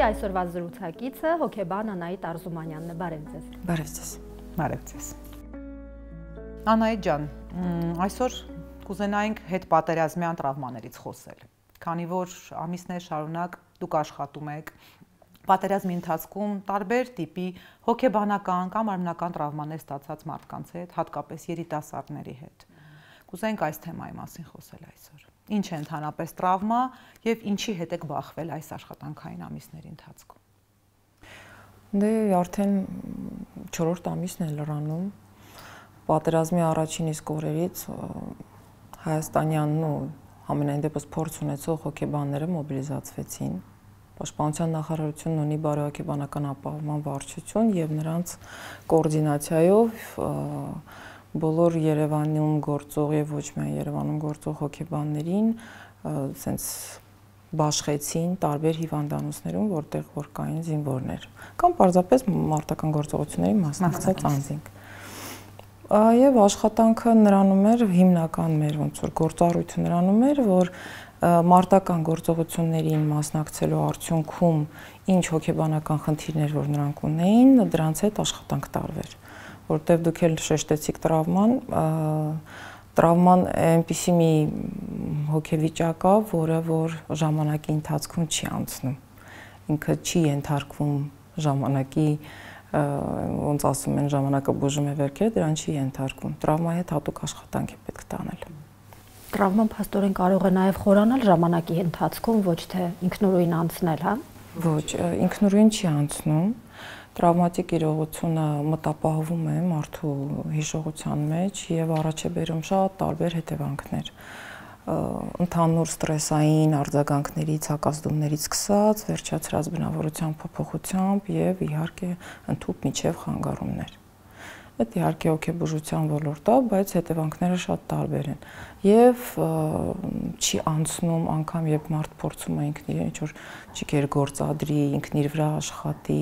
այսօրվա զրուցակիցը հոգեբան Անահիտ Արզումանյանն է, բարև ձեզ։ Բարև ձեզ։ Բարև ձեզ։ Անահիտ ջան, այսօր կուզենայինք հետպատերազմյան տրավմաներից խոսել, քանի որ ամիսներ շարունակ դուք աշխատում եք պատերազմի ընթացքում տարբեր տիպի հոգեբանական կամ արմնական տրավմաներ ստացած մարդկանց հետ, հատկապես երիտասարդների հետ։ Կուզենք այս թեմայի մասին խոսել այսօր։ Ինչ է ընդհանրապես տրավմա եւ ինչի հետ եք բախվել այս աշխատանքային ամիսների ընթացքում։ Դե արդեն 4-րդ ամիսն է լրանում։ Պատերազմի առաջին իսկ օրերից հայաստանյանն ու ամենայն դեպս փորձ ունեցող հոգեբանները մոբիլիզացվեցին։ Պաշտպանության նախարարությունն ունի բարոյական ապահովման վարչություն եւ նրանց կոորդինացիայով բոլոր Երևանում գործող եւ ոչ միայն Երևանում գործող հոգեբաններին սենց բաշխեցին տարբեր հիվանդանոցներում, որտեղ որ կային զինվորներ կամ պարզապես մարտական գործողությունների մասնակցած անձինք։ Եվ աշխատանքը նրանում էր հիմնական մեր ոնց որ գործառույթը նրանում էր, որ մարտական գործողություններին մասնակցելու արդյունքում ինչ հոգեբանական խնդիրներ որ նրանք ունեին, դրանց հետ աշխատանք տարվեր, որտեղ դուք էլ շեշտեցիք տրավման այնպիսի մի հոգեվիճակ է, որը որ ժամանակի ընթացքում չի անցնում, ինքը չի ենթարկվում ժամանակի, ոնց ասում են, ժամանակը բուժում է վերքեր, դրան չի ենթարկվում, տրավմայի հետ հատուկ աշխատանք է պետք տանել։ Տրավման փաստորեն կարող է նաև խորանալ ժամանակի ընթացքում, ոչ թե ինքնուրույն անցնել, հա։ Ոչ, ինքնուրույն չի անցնում։ Տրավմատիկ իրողությունը մտապահվում է մարդու հիշողության մեջ եւ առաջ է բերում շատ տարբեր հետևանքներ։ Ընդհանուր ստրեսային արձագանքներից, հակազդումներից սկսած, վերջացրած բնավորության փոփոխությամբ եւ իհարկե ընդհանուր միջև խանգարումներ։ Այդ իհարկե հոգեբուժության ոլորտ է, բայց հետևանքները շատ տարբեր են եւ չի անցնում անգամ երբ մարդ փորձում է ինքն իրեն ինչ-որ ճիգեր գործադրի, ինքն իր վրա աշխատի,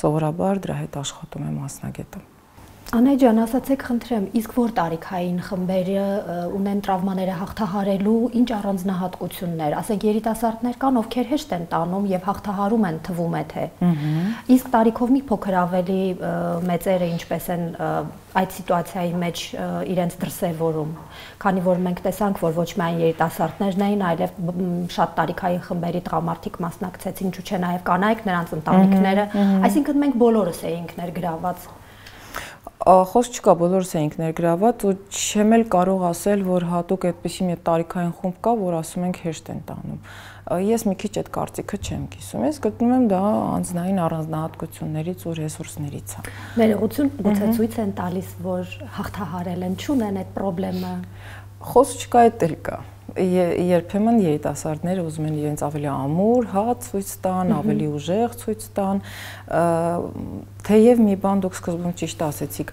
սովորաբար դրա հետ աշխատում է մասնագետը։ Անահիտ ջան, ասացեք խնդրեմ, իսկ որ տարիքային խմբերը ունեն տրավմաները հաղթահարելու ինչ առանձնահատկություններ, ասենք երիտասարդներ կան, ովքեր հեշտ են տանում եւ հաղթահարում են, թվում է թե։ Իսկ տարիքով մի փոքր ավելի մեծերը ինչպես են այդ սիտուացիայի մեջ իրենց դրսևորում, քանի որ մենք տեսանք, որ ոչ միայն երիտասարդներն էին, այլև շատ տարիքային խմբերի տղամարդիկ մասնակցեցին, ինչու՞ չէ նաեւ կանայք, նրանց ընտանիքները, այսինքն մենք բոլորս էինք ներգրաված։ Խոսք չկա, բոլորս էինք ներգրաված ու չեմ էլ կարող ասել, որ հատուկ այդպիսի մի տարիքային խումբ կա, որ ասում ենք հեշտ են տանում։ Ես մի քիչ այդ կարծիքը չեմ կիսում, ես գտնում եմ դա անձնային առանձնահատկություններից ու ռեսուրսներից է։ Ներողություն, գուցե ցույց են տալիս, որ հաղթահարել են, չունեն այդ խնդրը։ Խոսք չկա, այդ էլ կա։ Երբեմն երիտասարդները ուզում են իրենց ավելի ամուր, ցույց տան, ավելի ուժեղ ցույց տան, թեև մի բան դուք սկզբում ճիշտ ասեցիք,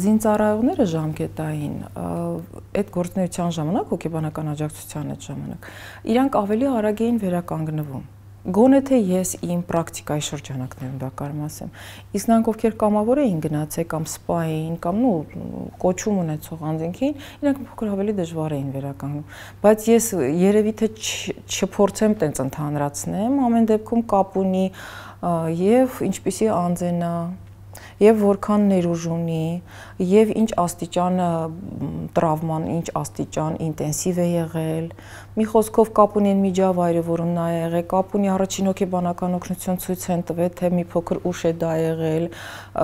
զինծառայողները ժամկետային, այդ գործունեության ժամանակ, հոգեբանական աջակցության այդ ժամանակ, իրանք ավելի արագ էին վերականգնվում։ Գոնե թե ես իմ պրակտիկայի շրջանակներում դա կարում ասեմ, իսկ նրանք ովքեր կամավոր էին գնացել կամ սպա էին կամ կոչում ունեցող անձինքին, իրանք փոքր ավելի դժվար էին վերականգնում, բայց ես երևի թե չփորձեմ տենց ընդհանրացնեմ, ամեն դեպքում կապ ունի եւ ինչպիսի անձենա եւ որքան ներուժ ունի եւ ինչ աստիճան տրավման, ինչ աստիճան ինտենսիվ է եղել, մի խոսքով կապ ունի այն միջավայրը, որում նա է եղել, կապ ունի առաջին հոգեբանական օգնություն ցույց են տվել, թե մի փոքր ուշ է դա եղել,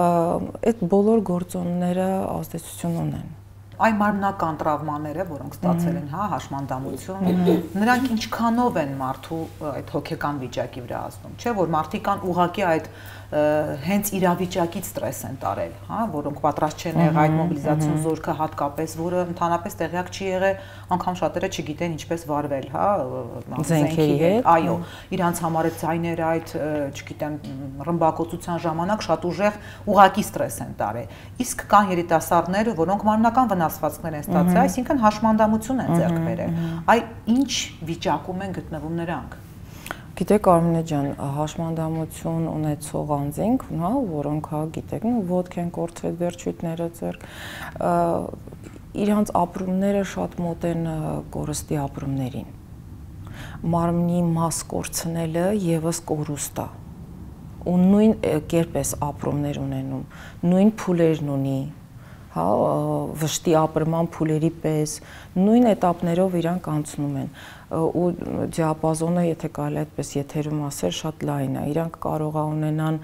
այդ բոլոր գործոնները ազդեցություն ունեն։ Այն մարմնական տրավմաները, որոնք ստացել են, հա, հաշմանդամություն, նրանք ինչքանով են մարդու այդ հոգեկան վիճակի վրա ազդում, չէ՞ որ մարդիկ կան ուղղակի այդ հենց իրավիճակից ստրես են տարել, հա, որոնք պատրաստ չեն եղել այդ մոբիլիզացիոն զորքը հատկապես, որը ընդհանրապես տեղյակ չի եղել, անգամ շատերը չգիտեն ինչպես վարվել, հա, զենքերի հետ, այո, իրանց համար այդ ձայները այդ, չգիտեմ, ռմբակոծության ժամանակ շատ ուժեղ ուղղակի ստրես են տարել։ Իսկ կան երիտասարդներ, որոնք մարմնական վնասվածքներ են ստացել, այսինքն հաշմանդամություն են ձեռք բերել։ Այ ինչ վիճակում են գտնվում նրանք։ Գիտեք Արմինե ջան, հաշմանդամություն ունեցող անձինք, հա, որոնք հա գիտեք, ոտք են կորցրել, վերջույթները ձեռք, իրանց ապրումները շատ մոտ են կորստի ապրումներին։ մարմնի մաս կորցնելը եւս կորուստ է։ Ու նույն կերպ էս ապրումներ ունենում, նույն փուլերն ունի, հա, վշտի ապրման փուլերի պես, նույն этаպներով իրանք անցնում են ու դիապազոնը, եթե կարելի այդպես եթերում ասել, շատ լայն է։ Իրանք կարող է ունենան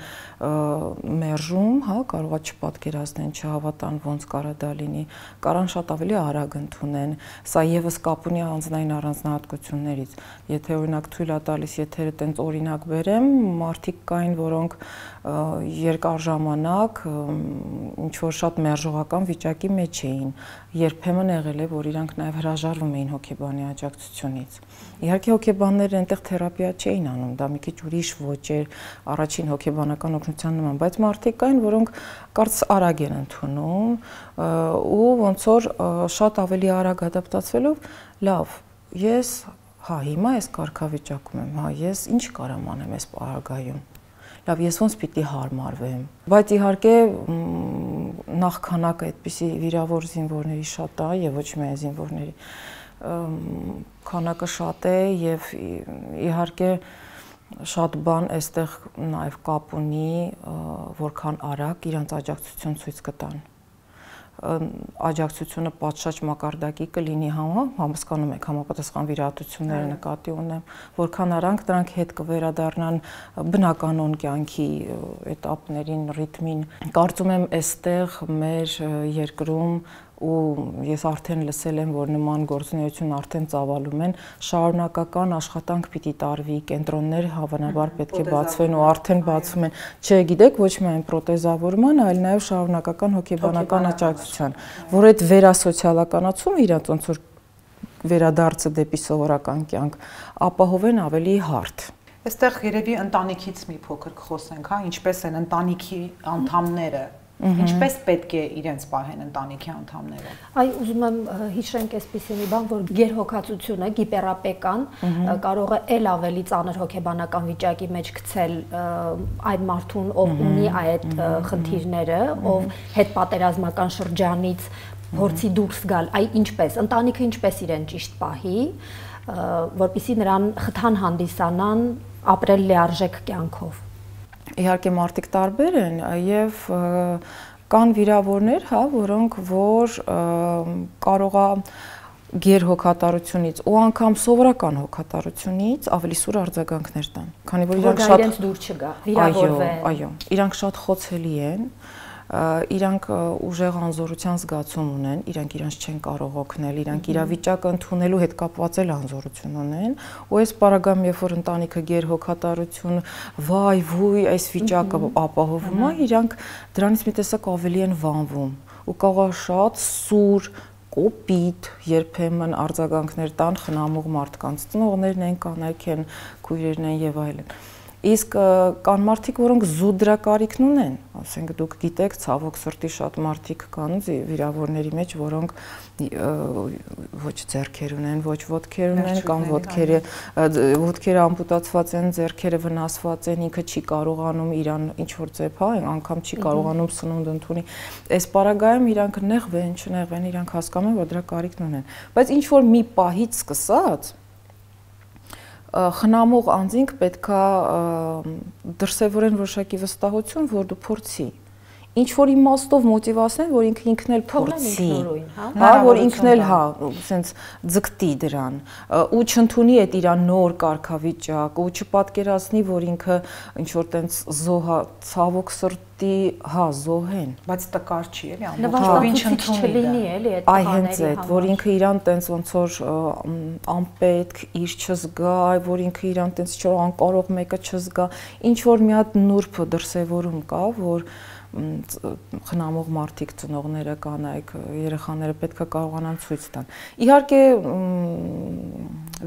մերժում, հա, կարող է չպատկերացնեն, չհավատան ոնց կարա դա լինի, կարան շատ ավելի արագ ընդունեն։ Սա եւս կապ ունի անձնային առանձնահատկություններից։ Եթե օրինակ թույլ է տալիս եթերը տենց օրինակ բերեմ, մարդիկ կային, որոնք երկար ժամանակ ինչ որ շատ մերժողական վիճակի մեջ էին, երբեմն եղել է, որ իրանք նաև հրաժարվում էին հոգեբանի աջակցությունից։ Իհարկե հոգեբանները այնտեղ թերապիա չէին անում, դա մի քիչ ուրիշ ոճ էր, առաջին հոգեբանական օգնության նման, բայց մարդիկ կային, որոնք կարծես արագ են ընդունում ու ոնց որ շատ ավելի արագ ադապտացվելով, լավ, ես հա հիմա այս կարգավիճակում եմ, հա ես ինչ կարամ անեմ այս պարագայում։ Լավ, ես ոնց պիտի հարմարվեմ։ Բայց իհարկե նախքանակը այդպիսի վիրավոր զինվորների շատ է եւ ոչ միայն զինվորների քանակը շատ է եւ իհարկե շատ բան այստեղ նաեւ կապ ունի որքան արագ իրանց աջակցություն ցույց կտան։ Աջակցությունը պատշաճ մակարդակի կլինի, հասկանում եք, համապատասխան վիրահատությունները նկատի ունեմ, որքան արագ դրանք հետ կվերադառնան բնականոն կյանքի этаպներին, ռիթմին։ Կարծում եմ, այստեղ մեր երկրում ու ես արդեն լսել եմ, որ նման գործունեություն արդեն ծավալում են, շարունակական աշխատանք պիտի տարվի, կենտրոններ հավանաբար պետք է բացվեն ու արդեն բացվում են, չէ, գիտեք, ոչ միայն պրոթեզավորման, այլ նաև շարունակական հոգեբանական աջակցության, որ այդ վերասոցիալականացումը իրաց ոնց որ վերադարձը դեպի սովորական կյանք ապահովեն ավելի հարթ։ Այստեղ երևի ընտանիքից մի փոքր կխոսենք, հա, ինչպես են ընտանիքի անդամները Ինչպես պետք է իրենց պահեն ընտանիքի անդամները։ Այ ուզում եմ հիշենք այսպիսի մի բան, որ գերհոգացությունը, գիպերապեկան կարող է ել ավելի ծանր հոգեբանական վիճակի մեջ գցել այդ մարդուն, ով ունի այդ խնդիրները, ով հետպատերազմական շրջանից փորձի դուրս գալ, այ ինչպես, ընտանիքը ինչպես իրեն ճիշտ պահի, որպեսզի նրան խթան հանդիսանան ապրել լիարժեք կյանքով։ Իհարկե մարդիկ տարբեր են եւ կան վիրավորներ, հա, որոնք որ կարող է գերհոգատարությունից ու անգամ սովորական հոգատարությունից ավելի սուր արձագանքներ տան, քանի որ իրանք շատ իրենց դուր չգա, վիրավորվեն։ Այո, իրանք շատ խոցելի են, իրանք ուժեղ անզորության զգացում ունեն, իրանք իրենց չեն կարող օգնել, իրանք իրավիճակը ընդունելու հետ կապված էլ անզորություն ունեն, ու այս պարագայում, երբ որ ընտանիքը գերհոգատարություն, վայ, վույ, այս վիճակը ապահովում է, իրանք դրանից մի տեսակ ավելի են վանվում, ու կարող է շատ սուր կոպիտ երբեմն արձագանքներ տան խնամող մարդկանց, ծնողներն են, կանայք են, քույրերն են եւ այլն։ Իսկ կան մարդիկ, որոնք զուտ դրա կարիքն ունեն, ասենք դուք գիտեք, ցավոք սրտի շատ մարդիկ կան վիրավորների մեջ, որոնք ոչ ձեռքեր ունեն, ոչ ոտքեր ունեն, կամ ոտքերը ամպուտացված են, ձեռքերը վնասված են, ինքը չի կարողանում իրան ինչ որ ձև, հա, անգամ չի կարողանում սնունդ ընդունի։ Այս պարագայում իրանք նեղվեն, չնեղվեն, իրանք հասկանում են, որ դրա կարիքն ունեն։ Բայց ինչ որ մի պահից սկսած խնամող անձինք պետքա դրսևորեն որոշակի վստահություն, որ դու փորձի։ Ինչ որ իմաստով մոտիվացնեն, որ ինքն էլ փորձի, հա, որ ինքն էլ, հա, ասենց ձգտի դրան, ու չընդունի այդ իր նոր կարգավիճակ, ու չպատկերացնի, որ ինքը ինչ որ տենց զոհա, ցավոք սրտի, հա, զոհեն, բայց տկար չի, էլի, ամբողջովին չընդունի, էլի, այդ այ հենց այդ, որ ինքը իրան տենց ոնց որ անպետք, իր չզգա, որ ինքը իրան տենց ինչ որ անկարող մեկը չզգա, ինչ որ մի հատ նուրբ դրսևորում կա, որ խնամող մարդիկ, ծնողները, կանայք, երեխաները պետք է կարողանան ցույց տան։ Իհարկե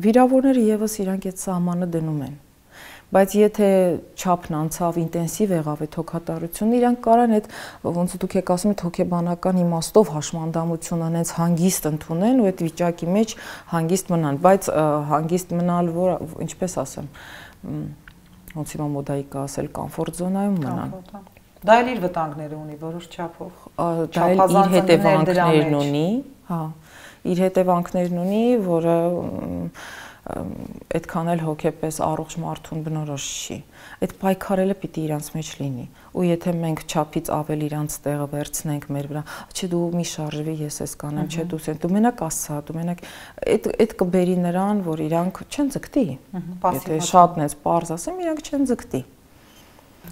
վիրավորները եւս իրանք այդ սահմանը դնում են։ Բայց եթե չափն անցավ, ինտենսիվ եղավ այդ հոգատարությունը, իրանք կարան այդ ոնց դուք եք ասում, այդ հոգեբանական իմաստով հաշմանդամություն անենց հանգիստ ընդունեն ու այդ վիճակի մեջ հանգիստ մնան, բայց հանգիստ մնալ, որ ինչպես ասեմ, ոնց հիմա մոդայի կա ասել, կոմֆորտ զոնայում մնան։ Դա էլ իր վտանգները ունի որոշ չափով։ Դա էլ իր հետևանքներն ունի, հա, իր հետևանքներն ունի, որը այդքան էլ հոգեպես առողջ մարդուն բնորոշ չի։ Այդ պայքարելը պիտի իրանց մեջ լինի։ Ու եթե մենք չափից ավել իրանց տեղը վերցնենք մեր վրա, չէ դու մի շարժվի, ես էս կանեմ, չէ դու մենակ ասա, դու մենակ այդ կբերի նրան, որ իրանք չեն ձգտի։ Եթե շատն էս պարզ ասեմ, իրանք չեն ձգտի։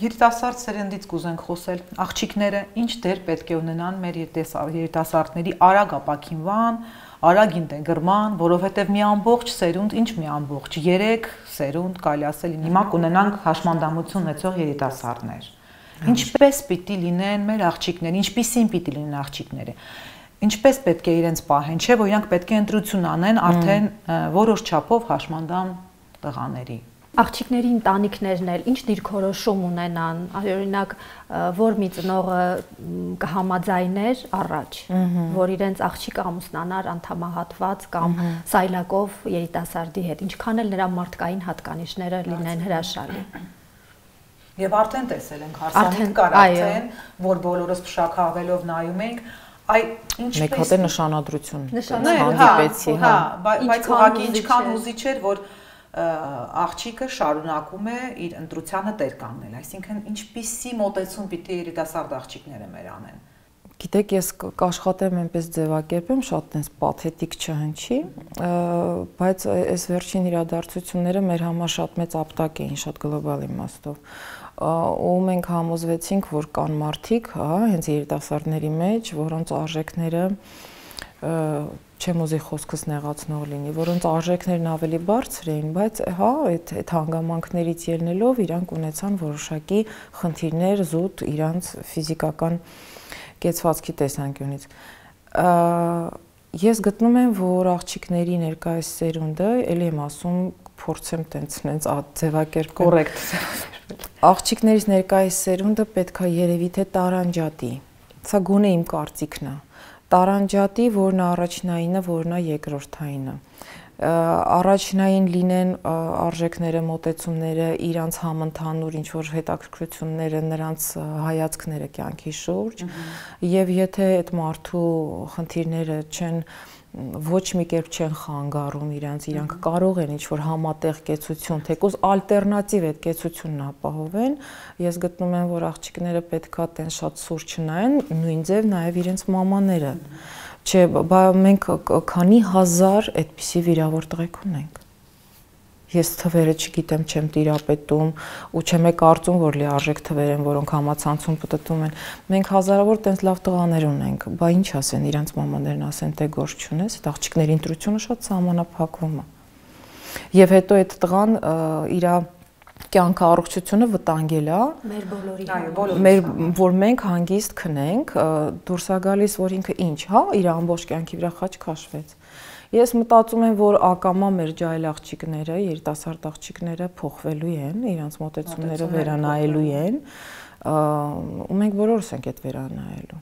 Երիտասարդ սերնդից կուզենք խոսել, աղջիկները ինչ դեր պետք է ունենան մեր երիտասարդների արագ ապակինվան, արագ ինտեգրման, որովհետև մի ամբողջ սերունդ, ինչ մի ամբողջ, 3 սերունդ կարելի ասել, հիմա կունենանք հաշմանդամություն ունեցող երիտասարդներ։ Ինչպես պիտի լինեն մեր աղջիկները, ինչպիսին պիտի լինեն աղջիկները։ Ինչպես պետք է իրենց պահեն, չէ՞ որ իրանք պետք է ընտրություն անեն արդեն որոշ չափով հաշմանդամ տղաների։ Աղջիկների ընտանիքներն էլ ինչ դիրքորոշում ունենան, օրինակ, որ մի ծնողը կհամաձայներ առաջ, որ իրենց աղջիկը ամուսնանար անդամահատված կամ սայլակով երիտասարդի հետ, ինչքան էլ նրա մարդկային հատկանիշները լինեն հրաշալի։ Եվ արդեն տեսել ենք, հարսանիք կար արդեն, որ բոլորս փշաքավելով նայում ենք, այ ինչպես մեկ հատ է նշանադրություն հանդիպեցի, հա, բայց ուղղակի ինչքան հուզիչ էր, որ աղջիկը շարունակում է իր ընտրությանը տեր կանգնել, այսինքն ինչպիսի մոտեցում պիտի երիտասարդ աղջիկները մեր անեն։ Գիտեք, ես կաշխատեմ այնպես ձևակերպեմ, շատ այնպես պաթետիկ չհնչի, բայց այս վերջին իրադարձությունները մեր համար շատ մեծ ապտակ էին, շատ գլոբալ իմաստով։ Ու մենք համոզվեցինք, որ կան մարդիկ, հա, հենց երիտասարդների մեջ, որոնց արժեքները չեմ ուզի խոսքս նեղացնող լինի, որոնց արժեքներն ավելի բարձր էին, բայց հա, այդ հանգամանքներից ելնելով իրանք ունեցան որոշակի խնդիրներ զուտ իրանց ֆիզիկական կեցվածքի տեսանկյունից։ Ես գտնում եմ, որ աղջիկների ներկայիս սերունդը, ելի եմ ասում, փորձեմ տենց ձևակերպել։ Կոռեկտ։ Աղջիկներից ներկայիս սերունդը պետք է երևի թե տարանջատի։ Սա գոնե իմ կարծիքն է։ Տարանջատի, որն է առաջնայինը, որն է երկրորդայինը։ Առաջնային լինեն արժեքները, մոտեցումները, իրանց համընդհանուր ինչ-որ հետաքրքրությունները, նրանց հայացքները կյանքի շուրջ, եւ եթե այդ մարդու խնդիրները չեն ոչ մի կերպ չեն խանգարում իրանք կարող են ինչ-որ համատեղ կեցություն, թեկուզ ալտերնատիվ այդ կեցությունն ապահովեն, ես գտնում եմ, որ աղջիկները պետքա տեն շատ սուր չնայեն, նույն ձև նաև իրենց մամաները, չէ, մենք քանի հազար այդպիսի վիրավոր տղեկ ունենք։ Ես թվերը չգիտեմ, չեմ տիրապետում ու չեմ կարծում, որ լիարժեք թվեր են, որոնք համացանցում պտտում են։ Մենք հազարավոր տենց լավ տղաներ ունենք, բա ինչ ասեն, իրանց մամաներն ասեն, թե գործ չունես, այդ աղջիկների ընտրությունը շատ սահմանափակվում է։ Եվ հետո այդ տղան իր կյանքը առողջությունը վտանգել է մեր բոլորի, որ մենք հանգիստ քնենք, դուրս է գալիս, որ ինքը ինչ, հա, իր ամբողջ կյանքի վրա խաչ քաշվեց։ Ես մտածում եմ, որ ակամա մեր ջայլ աղջիկները, երիտասարդ աղջիկները փոխվելու են, իրանց մոտեցումները վերանայելու են, ու մենք բոլորս ենք այդ վերանայելու։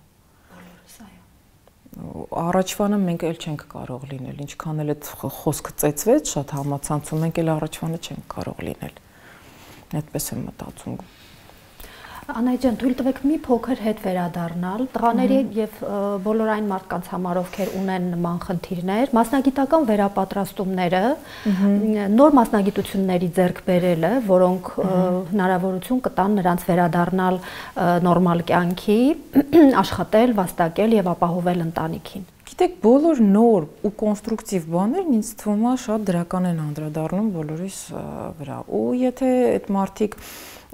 Բոլորս, այո։ Առաջվանը մենք էլ չենք կարող լինել, ինչքան էլ այդ խոսքը ծեծվեց շատ համացանցում, մենք էլ առաջվանը չենք կարող լինել։ Այդպես եմ մտածում։ Անահիտ ջան, թույլ տվեք մի փոքր հետ վերադառնալ տղաների եւ բոլոր այն մարդկանց համար, ովքեր ունեն նման խնդիրներ, մասնագիտական վերապատրաստումները, նոր մասնագիտությունների ձեռք բերելը, որոնք հնարավորություն կտան նրանց վերադառնալ նորմալ կյանքի, աշխատել, վաստակել եւ ապահովել ընտանիքին։ Գիտեք, բոլոր նոր ու կոնստրուկտիվ բաներն ինձ թվում է շատ դրական են անդրադառնում բոլորիս վրա։ Ու եթե այդ մարդիկ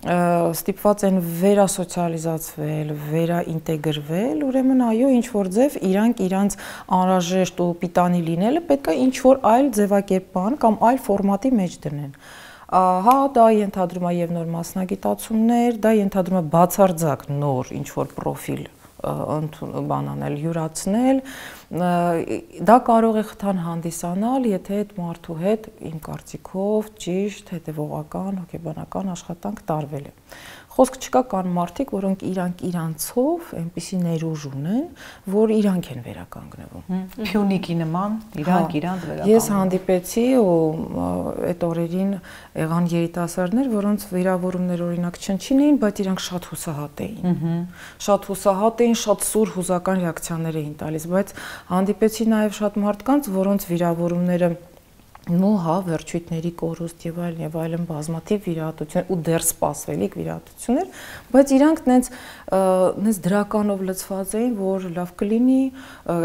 ստիպված են վերասոցիալիզացվել, վերաինտեգրվել, ուրեմն այո, ինչ որ ձև իրանց անհրաժեշտ ու պիտանի լինելը պետք է ինչ որ այլ ձևակերպման կամ այլ ֆորմատի մեջ դնեն։ Հա, դա ենթադրում է եւ նոր մասնագիտացումներ, դա ենթադրում է բացարձակ նոր ինչ որ պրոֆիլ բանանել, յուրացնել, դա կարող է խթան հանդիսանալ, եթե այդ մարդու հետ իմ կարծիքով ճիշտ հետևողական, հոգեբանական աշխատանք տարվել է։ Խոսք չկա, կան մարդիկ, որոնք իրանցով այնպիսի ներուժ ունեն, որ իրանք են վերականգնվում։ Փյունիկի նման իրանք վերականգնվում։ Ես հանդիպեցի ու այդ օրերին եղան երիտասարդներ, որոնց վիրավորումներ օրինակ չնչին, բայց իրանք շատ հուսահատ էին։ Շատ հուսահատ էին, շատ սուր հուզական ռեակցիաներ էին տալիս, բայց հանդիպեցի նաև շատ մարդկանց, որոնց վիրավորումները Հա, վերջույթների կորուստ եւ այլն բազմաթիվ վիրահատություններ ու դեռ սպասվելիք վիրահատություններ, բայց իրանք նենց դրականով լցված էին, որ լավ կլինի,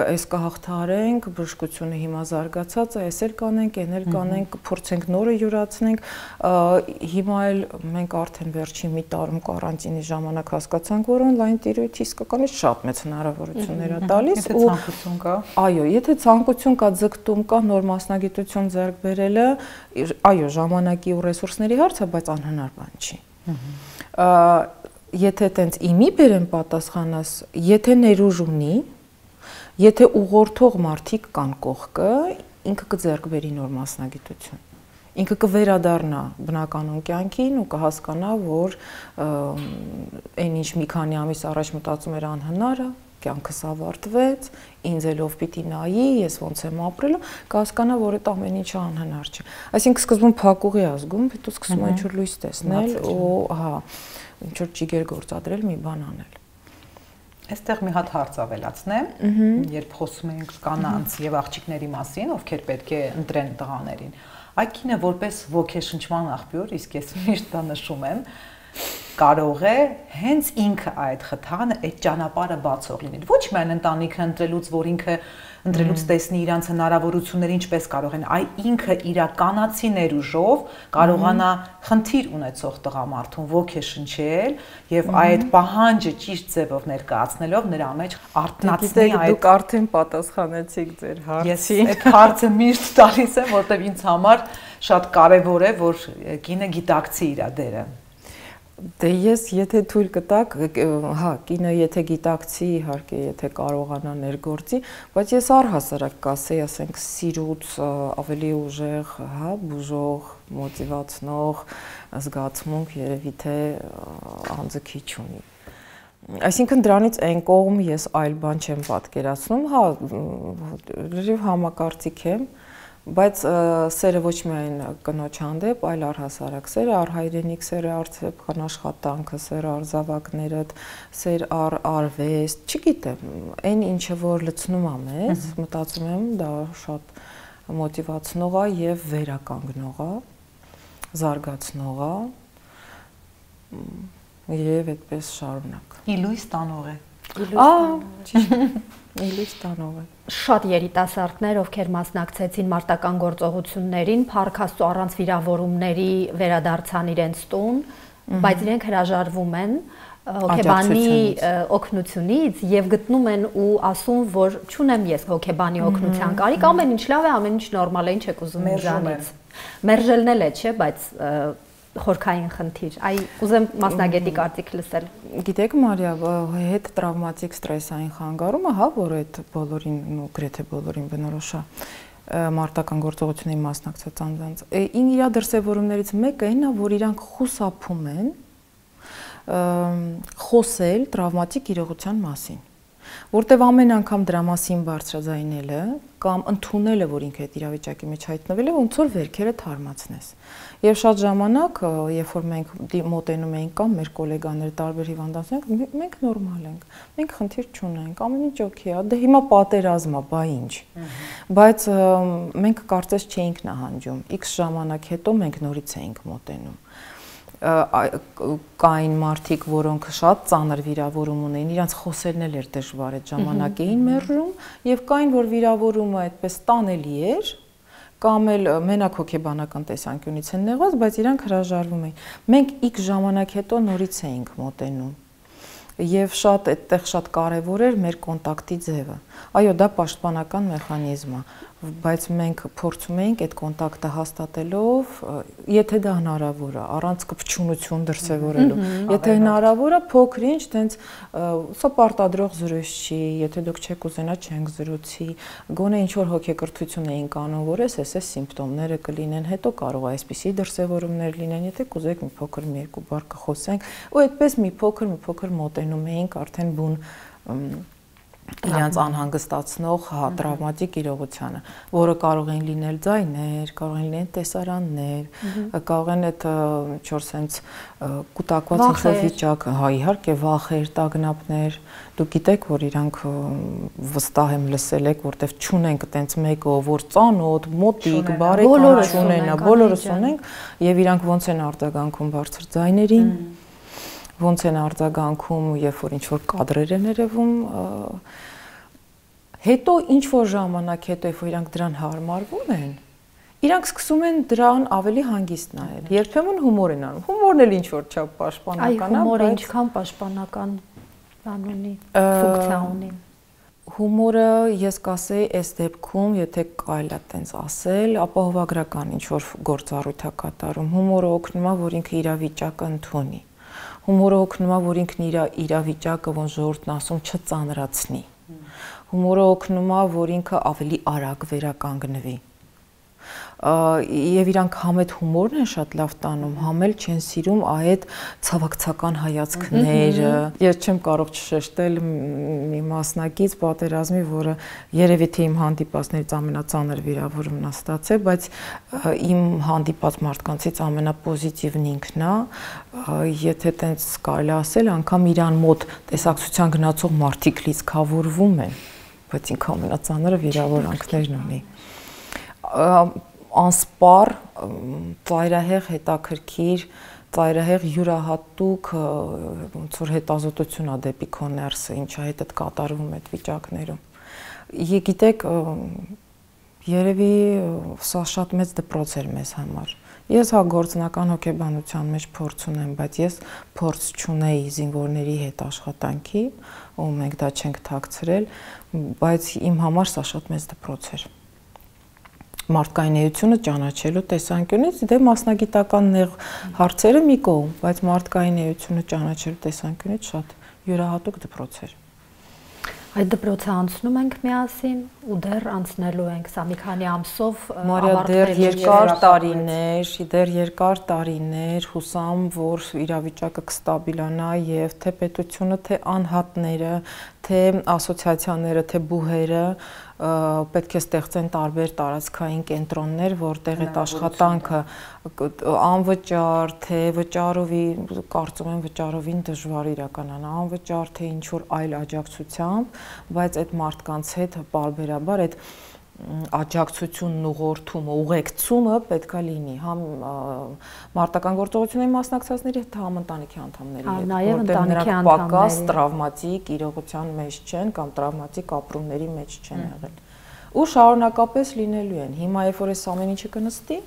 այս կհաղթահարենք, բժշկությունը հիմա զարգացած է, այս էլ կանենք, այն էլ կանենք, կփորձենք նորը յուրացնենք։ Հիմա էլ մենք արդեն վերջին մի տարում կարանտինի ժամանակ հասկացանք, որ on-line տիրույթի իսկականից շատ մեծ հնարավորություններ է տալիս ու ցանկություն կա։ Այո, եթե ցանկություն կա, ձգտում կա, նոր մասնագիտություն բերելը, այո, ժամանակի ու ռեսուրսների հարց է, բայց անհնար բան չի։ Եթե տենց իմի բերեմ պատասխանս, եթե ներուժ ունի, եթե ուղղորդող մարդիկ կան կողքը, ինքը կձեռք բերի նոր մասնագիտություն։ Ինքը կվերադառնա բնականon կյանքին ու կհասկանա, որ այն ինչ մի քանի ամիս առաջ մտածում էր անհնարը, կյանքս ավարտվեց, ինձ ելով պիտի նայի, ես ոնց եմ ապրելու, կհասկանա, որ այդ ամեն ինչը անհնար չէ։ Այսինքն սկզբում փակուղի ազգում, հետո սկսում է ինչ-որ լույս տեսնել ու հա, ինչ-որ ճիգեր գործադրել, մի բան անել։ Այստեղ մի հատ հարց ավելացնեմ, երբ խոսում ենք կանանց եւ աղջիկների մասին, ովքեր պետք է ընտրեն տղաներին։ Այդ կինը որպես ոգեշնչման աղբյուր, իսկ ես միշտ դա նշում եմ, կարող է հենց ինքը այդ խթանը, այդ ճանապարհը բացող լինել։ Ոչ միայն ընտանիքը ընտրելուց, որ ինքը ընտրելուց տեսնի իրանց հնարավորությունները ինչպես կարող են, այլ ինքը իր կանացի ներուժով կարողանա խնդիր ունեցող տղամարդուն ոգեշնչել եւ այդ պահանջը ճիշտ ձևով ներկայացնելով նրա մեջ արտնացնել այդ։ Դուք արդեն պատասխանեցիք ձեր հարցին։ Ես այդ հարցը միշտ տալիս եմ, որտեղ ինձ համար շատ կարեւոր է, որ կինը գիտակցի իր դերը։ Դե ես եթե թույլ կտակ, հա, կինը եթե գիտակցի, իհարկե, եթե կարողանա ներգործի, բայց ես առհասարակ կասեի, ասենք, սիրուց ավելի ուժեղ, հա, բուժող, մոտիվացնող զգացմունք երևի թե անձը քիչ ունի։ Այսինքն դրանից այն կողմ ես այլ բան չեմ պատկերացնում, հա, լրիվ համակարծիք եմ, բայց սերը ոչ միայն կնոջ հանդեպ, այլ առհասարակ սերը, առհայրենիք սերը, արդյունքան աշխատանքը, սերը արձավակներդ, սեր արվեստ, չգիտեմ, այն ինչը որ լցնում է մեզ, մտածում եմ, դա շատ մոտիվացնող է եւ վերականգնող է, զարգացնող է, եւ այդպես շարունակ։ Իլույս տանող է։ Իլույս տանող է։ Շատ երիտասարդներ, ովքեր մասնակցեցին մարտական գործողություններին, փառք Աստծո առանց վիրավորումների վերադարձան իրենց տուն, բայց իրենք հրաժարվում են հոգեբանի օգնությունից եւ գտնում են ու ասում, որ չունեմ ես հոգեբանի օգնության կարիք, ամեն ինչ լավ է, ամեն ինչ նորմալ է, ինչ եք ուզում ինձանից։ Մերժելն էլ է, չէ, բայց խորքային խնդիր։ Այ ուզեմ մասնագետի կարծիք լսել։ Գիտեք, Մարիա, հետ տրավմատիկ ստրեսային խանգարումը, հա, որ այդ բոլորին, ու գրեթե բոլորին բնորոշ է, մարտական գործողությունների մասնակցած անձանց։ Իր դրսևորումներից մեկը այն է, որ իրանք խուսափում են խոսել տրավմատիկ իրողության մասին։ Որտեվ ամեն անգամ դրա մասին բարձրաձայնելը կամ ընդունելը, որ ինքը այդ իրավիճակի մեջ հայտնվել է, ոնց որ վերքերը թարմացնես։ Եվ շատ ժամանակ, երբ որ մենք մոտենում ենք կամ մեր գոլեգաները տարբեր հիվանդանոցներ, մենք նորմալ ենք, մենք խնդիր չունենք, ամեն ինչ օքեյ է, դե հիմա պատերազմ է, բա ինչ։ Բայց մենք կարծես չէինք նահանջում, X ժամանակ հետո մենք նորից էինք մոտենում։ Կային մարդիկ, որոնք շատ ծանր վիրավորում ունեին, իրանց խոսելն էլ էր դժվար, այդ ժամանակ էին մերժում, եւ կային, որ վիրավորումը այդպես տանելի էր, կամ էլ մենակ հոգեբանական տեսանկյունից են նեղված, բայց իրանք հրաժարվում էին։ Մենք X ժամանակ հետո նորից էինք մոտենում։ Եվ շատ այդտեղ շատ կարևոր էր մեր կոնտակտի ձևը։ Այո, դա պաշտպանական մեխանիզմ է, բայց մենք փորձում ենք այդ կոնտակտը հաստատելով, եթե դա հնարավոր է, առանց կպչունություն դրսևորելու։ Եթե հնարավոր է, փոքր-ինչ տենց սա պարտադրող զրույց չի, եթե դուք չեք ուզենա, չենք զրուցի, գոնե ինչ որ հոգեկրթություն էինք անում, որ էս սիմպտոմները կլինեն, հետո կարող է այսպիսի դրսևորումներ լինեն, եթե կուզեք մի փոքր մի երկու բառ կխոսենք, ու այդպես մի փոքր մոտենում էինք արդեն բուն իրենց անհանգստացնող տրավմատիկ իրողությանը, որը կարող են լինել ձայներ, կարող են լինել տեսարաններ, կարող են այդ ինչ-որ sense կուտակված ինչ-որ վիճակ, հա իհարկե վախեր, տագնապներ, դուք գիտեք, որ իրանք վստահ եմ լսել եք, որտեվ չունենք այտենց մեկը, որ ծանոթ, մոտիկ, բարեկամ չունենա, բոլորս ունենք, եւ իրանք ոնց են արձագանքում բարձր ձայներին, ոնց են արձագանքում, երբ որ ինչ-որ կադրեր են երևում, հետո ինչ-որ ժամանակ հետո, երբ որ իրանք դրան հարմարվում են, իրանք սկսում են դրան ավելի հանգիստ նայել։ Երբեմն հումոր են անում։ Հումորն էլ ինչ-որ չափ պաշտպանական է, հումորը ինչքան պաշտպանական բան ունի, ֆունկցիա ունի։ Հումորը ես կասեի այս դեպքում, եթե կարելի է այդպես ասել, ապահովագրական ինչ-որ գործառույթ է կատարում։ Հումորը օգնում է, որ ինքը իրավիճակը ընդունի։ Հումորը օգնում է, որ ինքն իր իրավիճակը ոնց ժողովուրդն ասում չծանրացնի։ Հումորը օգնում է, որ ինքը ավելի արագ վերականգնվի։ Եվ իրանք համ այդ հումորն են շատ լավ տանում, համ էլ չեն սիրում այդ ցավակցական հայացքները։ Ես չեմ կարող չշեշտել մի մասնակից պատերազմի, որը երևի թե իմ հանդիպածներից ամենածանր վիրավորումն է ստացել, բայց իմ հանդիպած մարդկանցից ամենապոզիտիվն ինքն է, եթե տենց կարելի ասել, անգամ իրան մոտ տեսակցության գնացող մարդիկ լիցքավորվում են, բայց ինքը ամենածանրը վիրավորանքներն ունի։ Անսպար, ծայրահեղ հետաքրքիր, ծայրահեղ յուրահատուկ ոնց որ հետազոտություն է դեպի քո ներսը, ինչա հետ այդ կատարվում այդ վիճակներում։ Գիտեք, երևի սա շատ մեծ դպրոց էր մեզ համար։ Ես հա գործնական հոգեբանության մեջ փորձ ունեմ, բայց ես փորձ չունեի զինվորների հետ աշխատանքի, ու մենք դա չենք թաքցրել, բայց իմ համար սա շատ մեծ դպրոց էր։ Մարդկային էությունը ճանաչելու տեսանկյունից, դե մասնագիտական նեղ հարցերը մի կողմ, բայց մարդկային էությունը ճանաչելու տեսանկյունից շատ յուրահատուկ դպրոց էր։ Այդ դպրոցը անցնում ենք միասին ու դեռ անցնելու ենք, սա մի քանի ամսով Մարիա, դեռ երկար տարիներ հուսամ, որ իրավիճակը կստաբիլանա եւ թե պետությունը, թե անհատները, թե ասոցիացիաները, թե բուհերը պետք է ստեղծեն տարբեր տարածքային կենտրոններ, որտեղ այդ աշխատանքը անվճար, թե վճարովի, կարծում եմ վճարովին դժվար իրականանա, անվճար, թե ինչ-որ այլ աջակցությամբ, բայց այդ մարդկանց հետ պարբերաբար այդ աջակցությունն ուղղորդումը, ուղեկցումը պետք է լինի համ մարտական գործողությունների մասնակցածների հետ, համ ընտանիքի անդամների հետ, որտեղ նրանք պակաս տրավմատիկ իրողության մեջ չեն կամ տրավմատիկ ապրումների մեջ չեն եղել։ Ու շարունակապես լինելու են։ Հիմա երբ որ այս ամեն ինչը կնստի,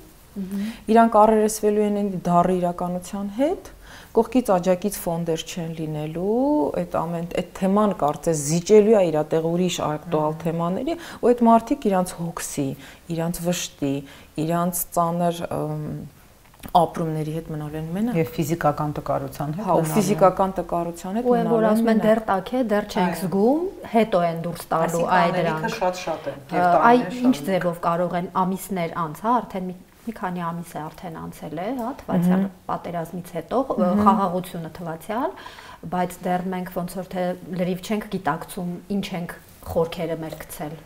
իրանք առերեսվելու են դառը իրականության հետ, կողքից աջակից ֆոնդեր չեն լինելու, այդ թեման կարծես զիջելու է իր տեղ ուրիշ ակտուալ թեմաների, ու այդ մարդիկ իրանց հոգսի, իրանց վշտի, իրանց ծանր ապրումների հետ մնալու են մենակ եւ ֆիզիկական տկարության հետ մնալու են։ Հա, ֆիզիկական տկարության հետ մնալու են։ Ու որ ասում են դեռ տաք է, դեռ չենք զգում, հետո են դուրս տալու այդ դրանք։ Շատ են։ Այ ինչ ձևով կարող են ամիսներ անց, հա, արդեն մի քանի ամիս է արդեն անցել է, հա, թվացial պատերազմից հետո, խաղաղությունը թվացial, բայց դեռ մենք ոնց որ թե լրիվ չենք գիտակցում, ինչ ենք խորքերը մեր գցել։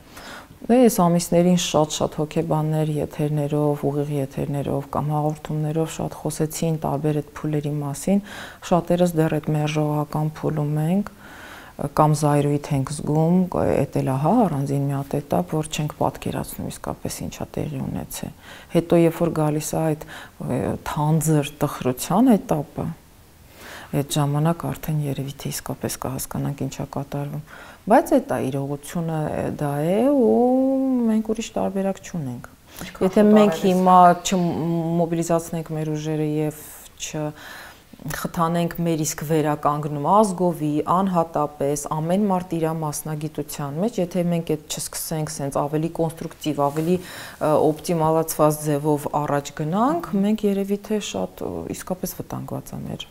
Այս ամիսներին շատ հոգեբաններ եթերներով, ուղիղ եթերներով կամ հաղորդումներով շատ խոսեցին տարբեր այդ փուլերի մասին, շատերս դեռ այդ մերժողական փուլում ենք կամ զայրույթ ենք զգում, էդ էլ ահա առանձին մի հատ էտապ, որ չենք պատկերացնում իսկապես ինչա տեղի ունեցել։ Հետո երբ որ գալիս է այդ թանձր տխրության էտապը, այդ ժամանակ արդեն երևի թե իսկապես կհասկանանք ինչա կատարվում։ Բայց այդ իրողությունը դա է ու մենք ուրիշ տարբերակ չունենք։ Եթե մենք հիմա չմոբիլիզացնենք մեր ուժերը եւ չխթանենք մեր իսկ վերականգնում ազգովի, անհատապես, ամեն մարդ իր մասնագիտության մեջ, եթե մենք այդ չսկսենք սենց ավելի կոնստրուկտիվ, ավելի օպտիմալացված ձևով առաջ գնանք, մենք երևի թե շատ իսկապես վտանգված է մեր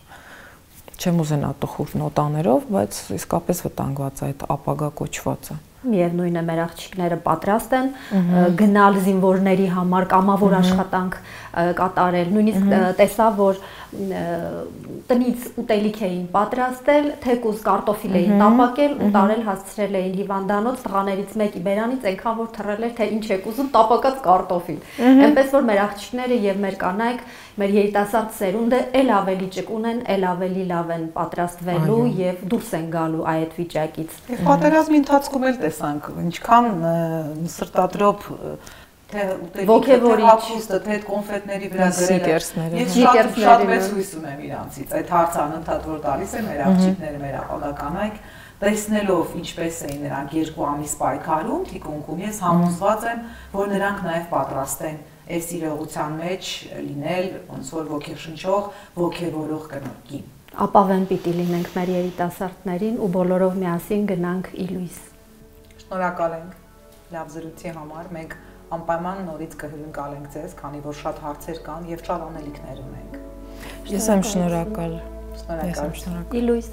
չեմ ուզենա տխուր նոտաներով, բայց իսկապես վտանգված է այդ ապագա կոչվածը։ Միևնույն է, մեր աղջիկները պատրաստ են գնալ զինվորների համար կամավոր աշխատանք կատարել, նույնիսկ տեսա, որ տնից ուտելիք էին պատրաստել, թեկուզ կարտոֆիլ էին տապակել ու տարել հասցրել էին հիվանդանոց, տղաներից մեկի բերանից այնքան որ թռել էր, թե ինչ եք ուզում, տապակած կարտոֆիլ։ Այնպես որ մեր աղջիկները եւ մեր կանայք, մեր երիտասարդ սերունդը էլ ավելի ճկուն են, էլ ավելի լավ են պատրաստվելու եւ դուրս են գալու այդ վիճակից։ Եվ պատերազմի ընթացքում էլ տեսանք, ինչքան սրտադրոփ թե ոգևորիչը, թե կոնֆետների վրա գրել։ Ես շատ մեծ հույս ունեմ իրանցից։ Այդ հարցը անընդհատ որ տալիս են մեր աղջիկները, մեր ապագականայք, տեսնելով ինչպես էին նրանք 2 ամիս պայքարում թիկունքում, ես համոզված եմ, որ նրանք նաև պատրաստ են այս իրողության մեջ լինել ոնց որ ոգեշնչող, ոգևորող կնոջին։ Ապավեն պիտի լինենք մեր երիտասարդներին ու բոլորով միասին գնանք ի լույս։ Շնորհակալ ենք լավ զրույցի համար։ Մենք անպայման նորից կհյուրընկալենք ձեզ, քանի որ շատ հարցեր կան եւ շատ անելիքներ ունենք։ Ես եմ շնորհակալ։ Շնորհակալ։ Ի լույս։